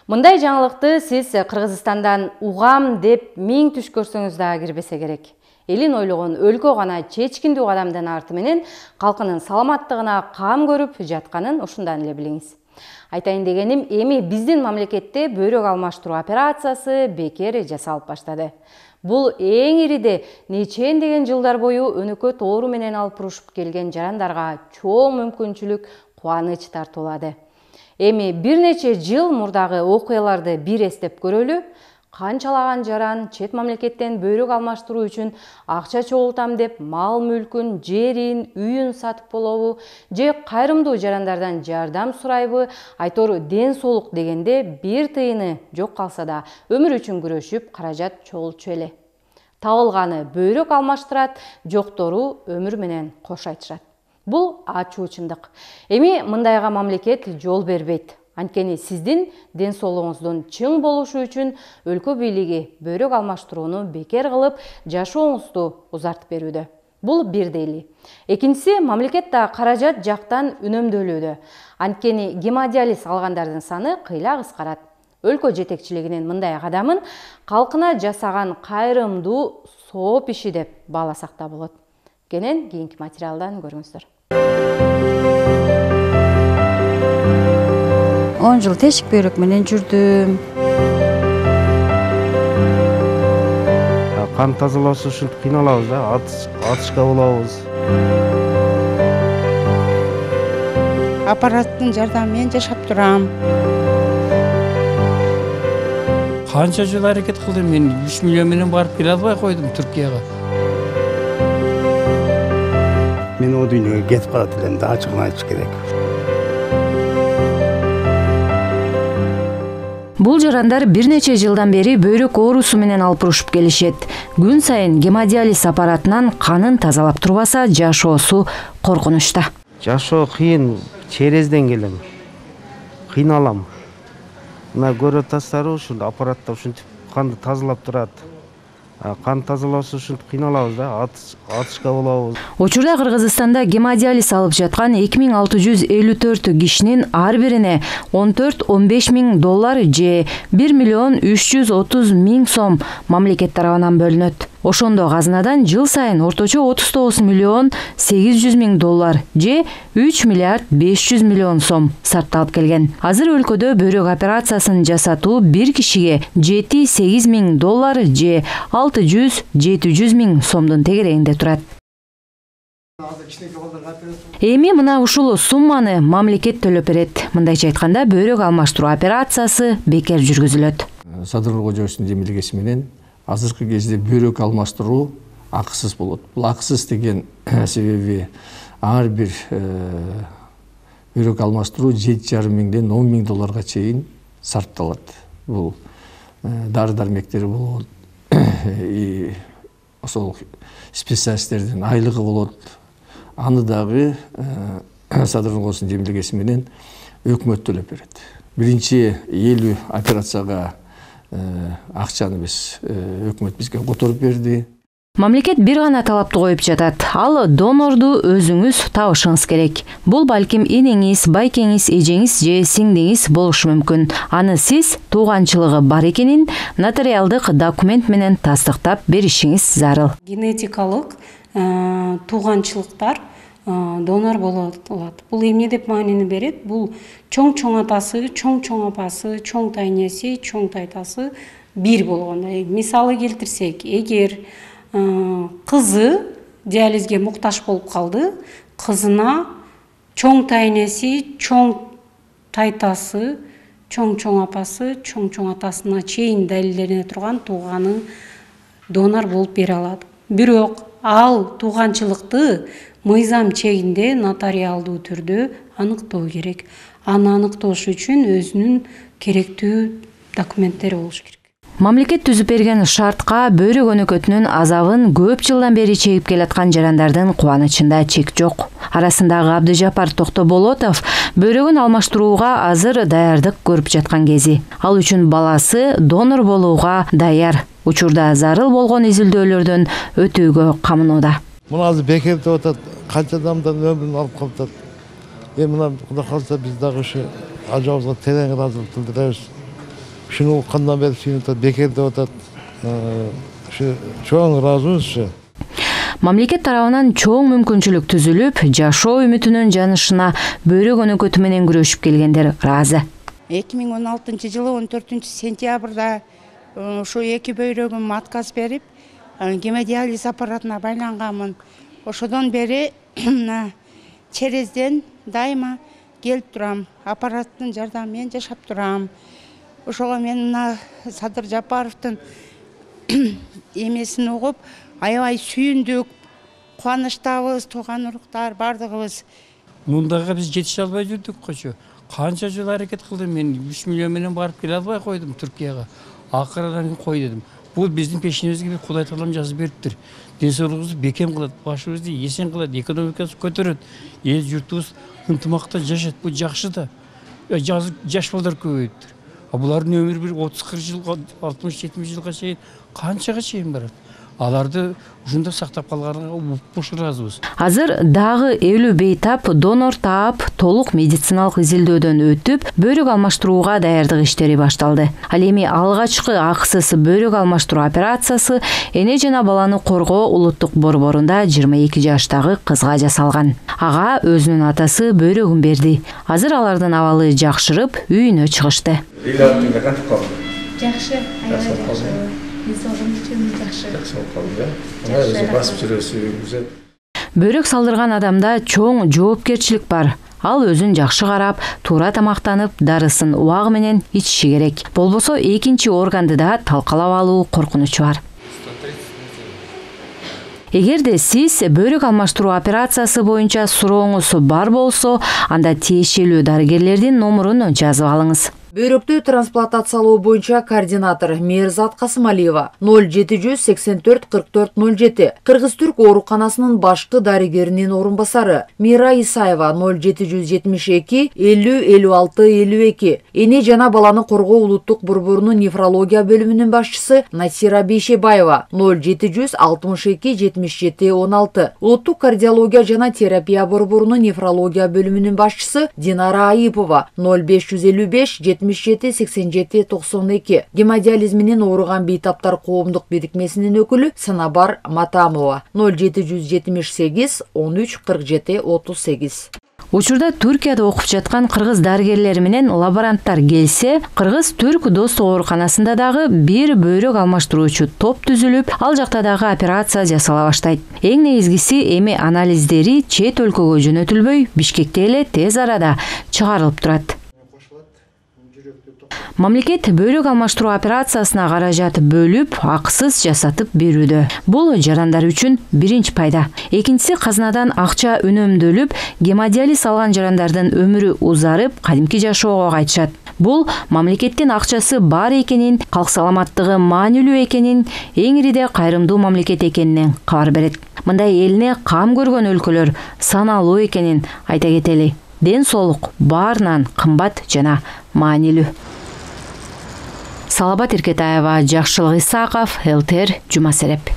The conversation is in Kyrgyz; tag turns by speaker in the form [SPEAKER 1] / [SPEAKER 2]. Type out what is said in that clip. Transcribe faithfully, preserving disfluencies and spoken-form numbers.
[SPEAKER 1] Мындай жаңылыкты сиз Кыргызстандан угам деп миң түш көрсөңүз да кирбесе керек. Элин ойлогон өлкө гана чечкиндүү кадамдын арты менен калкынын саламаттыгына кам көрүп жатканын ушундан эле билиңиз. Айтайын дегеним, эми биздин мамлекетте бөйрөк алмаштыруу операциясы бекер жасалып баштады. Бул эң ириде нечендеген жылдар бою өнөкөт оору менен алып урушуп келген жарандарга чоң мүмкүнчүлүк, кубаныч тартуулады. Эми бир нече жыл мурдагы окуяларды бир эстеп көрөлү. Канчалаган жаран чет мамлекеттен бөйрөк алмаштыруу үчүн акча чогултам деп мал мүлкүн, жерин, үйүн сатып болобу, же кайрымдуу жарандардан жардам сурайбы, айтор ден соолук дегенде бир тыйыны жок калса да өмүр үчүн күрөшүп каражат чогултчу эле. Табылганы бөйрөк алмаштырат, жоктору өмүр менен кош айтышат. Бул ачуу чындык. Эми мындайга мамлекет жол бербейт. Анткени сиздин ден соолугуңуздун чың болушу үчүн өлкө бийлиги бөйрөк алмаштырууну бекер кылып, жашооңузду узартып берүүдө. Бул бир дели. Экинчиси, мамлекет да каражат жактан үнөмдөлүүдө. Анткени гемодиализ алгандардын саны кыйла кыскарат. Өлкө жетекчилигинин мындай кадамын калкына жасаган кайрымдуу сооп иши деп бааласак да болот. Кенен кийинки материалдан көрүңүздөр.
[SPEAKER 2] он жыл тешик бөйрөк менен жүрдүм.
[SPEAKER 3] Кан тазалоосу үчүн кыйналабыз да, атышка болобуз.
[SPEAKER 4] Аппараттын жардамы менен жашап турам.
[SPEAKER 5] Канча жыл аракет кылдым, мен үч миллион менен барып келе албай койдум Түркияга.
[SPEAKER 6] Мен о дүйнөгө кетип калат элем да, ачыгын айтыш керек.
[SPEAKER 1] Бул жарандар бир нече жылдан бери бөйрөк оорусу менен алып урушуп келишет. Күн сайын гемодиализ аппаратынан канын тазалап турбаса, жашоосу коркунучта.
[SPEAKER 3] Жашоо кыйын, черезден келем. Кыйналам. Мына көрө атасыздарбы, ушул аппаратта ушинтип канды тазалап турат. Кан тазалоосу үчүн кыйналабыз да, атышка болобуз.
[SPEAKER 1] Учурда Кыргызстанда гемодиализ алып жаткан эки миң алты жүз элүү төрт кишинин ар бирине он төрт он беш миң доллар же бир миллион үч жүз отуз миң сом мамлекет тарабынан бөлүнөт. Ошондо казынадан жыл сайын орточо отуз тогуз миллион сегиз жүз миң доллар же үч миллиард беш жүз миллион сом сарпталып келген. Азыр өлкөдө бөйрөк операциясын жасатуу бир кишиге жети сегиз миң доллар же алты жүз жети жүз миң сомдун тегерегинде турат. Эми мына ушул сумманы мамлекет төлөп берет. Мындайча айтканда, бөйрөк алмаштыруу операциясы бекер жүргүзүлөт.
[SPEAKER 7] Садыр Кожоевичтин жемилгеси менен азыркы кезде бөйрөк алмаштыруу акысыз болот. Бул акысыз деген себеби ар бир бөйрөк алмаштыруу жети жарым миңден он миң долларга чейин сарпталат. Бул дары дармектери болот, ошол специалисттердин айлыгы болот. Аны дагы Садыр Кожоевичтин жемилгеси менен өкмөт төлөп берет. Биринчи элүү операцияга акчаны биз өкмөт бизге которуп берди.
[SPEAKER 1] Мамлекет бир гана талапты коюп жатат. Ал донорду өзүңүз табышыңыз керек. Бул балким энеңиз, байкеңиз, эжеңиз же сиңдиңиз болушу мүмкүн. Аны сиз тууганчылыгы бар экенин нотариалдык документ менен тастыктап беришиңиз зарыл.
[SPEAKER 4] Генетикалык тууганчылыктар донор боло алат. Бул эмне деп маанини берет? Бул чоң-чоң атасы, чоң-чоң апасы, чоң тайнеси, чоң тайтасы бир болгондой. Мисалы келтирсек, эгер кызы диализге муктаж болуп калды, кызына чоң тайнеси, чоң тайтасы, чоң-чоң апасы, чоң-чоң атасына чейин далилдене турган тууганы донор болуп бере алат. Бирок ал тууганчылыкты мыйзам чегинде нотариалдуу түрдө аныктоо керек. Аны аныктоош үчүн өзүнүн керектүү документтери болуш керек.
[SPEAKER 1] Мамлекет түзүп берген шартка бөйрөк өнөкөтүнүн азабын көп жылдан бери чегип келаткан жарандардын кубанычында чек жок. Арасындагы Абдыжапар Токтоболотов бөйрөгүн алмаштырууга азыр даярдык көрүп жаткан кези. Ал үчүн баласы донор болууга даяр. Учурда зарыл болгон изилдөөлөрдөн өтүүгө камынууда.
[SPEAKER 8] Мына азыр бекер деп атат, канча адамдын өмүрүн алып калат. Эми мына Кудай калса биз дагы ушу ажабыбызга терең ыраазылык билдиребиз. ушуну уккандан бери сүйүнүп атат, бекер деп атат. Ушу чоң ыраазыбыз.
[SPEAKER 1] Мамлекет тарабынан чоң мүмкүнчүлүк түзүлүп, жашоо үмүтүнүн жанышына бөйрөк өнөкөтү менен күрөшүп келгендер ыраазы.
[SPEAKER 9] эки миң он алтынчы жылы он төртүнчү сентябрда ошо эки бөйрөгүм отказ берип, гемодиализ аппаратына байланганмын. Ошодон бери Черезден дайыма келип турам, аппараттын жардамы менен жашап турам. Ошого мен мына Садыр Жапаровдун эмесин угуп, аябай сүйүндүк, кубанычтабыз, тууган уруктар бардыгыбыз.
[SPEAKER 5] Мундага биз жетише албай жүрдүк кочо. Канча жыл аракет кылдым, мен үч миллион менен барып келе албай койдум Түркияга. Акырынан кой дедим. Бул биздин пешинебизге Кудай таалам жазып бериптир. Ден соолугубузду бекем кылат, башыбызды эсен кылат, экономикасы көтөрөт, эл журтубуз ынтымакта жашат. Бул жакшы да. Жаш балдар көбөйүптүр. А булардын өмүрү бир отуз кырк жылга, алтымыш жетимиш жылга чейин канчага чейин барат. Аларды ушунда сактап калганга буш ыраазыбыз.
[SPEAKER 1] Азыр дагы элүү бейтап донор таап толук медициналык изилдөөдөн өтүп, бөйрөк алмаштырууга даярдык иштери башталды. Ал эми алгачкы акысыз бөйрөк алмаштыруу операциясы эне жана баланы коргоо улуттук борборунда жыйырма эки жаштагы кызга жасалган. Ага өзүнүн атасы бөйрөгүн берди. Азыр алардын абалы жакшырып, үйүнө чыгышты.
[SPEAKER 10] Жакшы, аябай жакшы.
[SPEAKER 1] Бөйрөк салдырган адамда чоң жоопкерчилик бар. Ал өзүн жакшы карап, туура тамактанып, дарысын убагы менен ичиши керек. Болбосо экинчи органды да талкалап алуу коркунучу бар. Эгерде сиз бөйрөк алмаштыруу операциясы боюнча сурооңуз бар болсо, анда тиешелүү дарыгерлердин номурун жазып алыңыз.
[SPEAKER 11] Бөйрөктү трансплантациялоо боюнча координатор Мээрзат Касымалиева ноль жети жүз сексен төрт кырк төрт ноль жети, Кыргыз-Түрк ооруканасынын башкы дарыгеринин орун басары Мира Исаева ноль жети жүз жетимиш эки элүү элүү алты элүү эки, эне жана баланы коргоо улуттук борборунун нефрология бөлүмүнүн башчысы Насира Бейшебаева ноль жети жүз алтымыш эки жетимиш жети он алты, улуттук кардиология жана терапия борборунун нефрология бөлүмүнүн башчысы Динара Айыпова ноль беш жүз элүү беш жетимиш жети сексен жети токсон эки, гемодиализ менен ооруган бейтаптар коомдук бирикмесинин өкүлү Санабар Матамова ноль жети жүз жетимиш сегиз он үч кырк жети отуз сегиз.
[SPEAKER 1] Учурда Түркияда окуп жаткан кыргыз дарыгерлери менен лаборанттар келсе, Кыргыз-Түрк достук ооруканасында дагы бир бөйрөк алмаштыруучу топ түзүлүп, ал жакта дагы операция жасала баштайт. Эң негизгиси эми анализдери чет өлкөгө жөнөтүлбөй, Бишкекте эле тез арада чыгарылып турат. Мамлекет бөйрөк алмаштыруу операциясына каражат бөлүп, акысыз жасатып берүүдө. Бул жарандар үчүн биринчи пайда. Экинчиси казынадан акча үнөмдөлүп, гемодиализ алган жарандардын өмүрү узарып, кадимки жашоого кайтышат. Бул мамлекеттин акчасы бар экенин, калк саламаттыгы маанилүү экенин, эңириде кайрымдуу мамлекет экенинен кабар берет. Мындай элине кам көргөн өлкөлөр саналуу экенин айта кетели. Ден соолук баарынан кымбат жана маанилүү. Салабат Эркетаева, Жакшылык Исаков, эл тэ эр, Жума Сереп.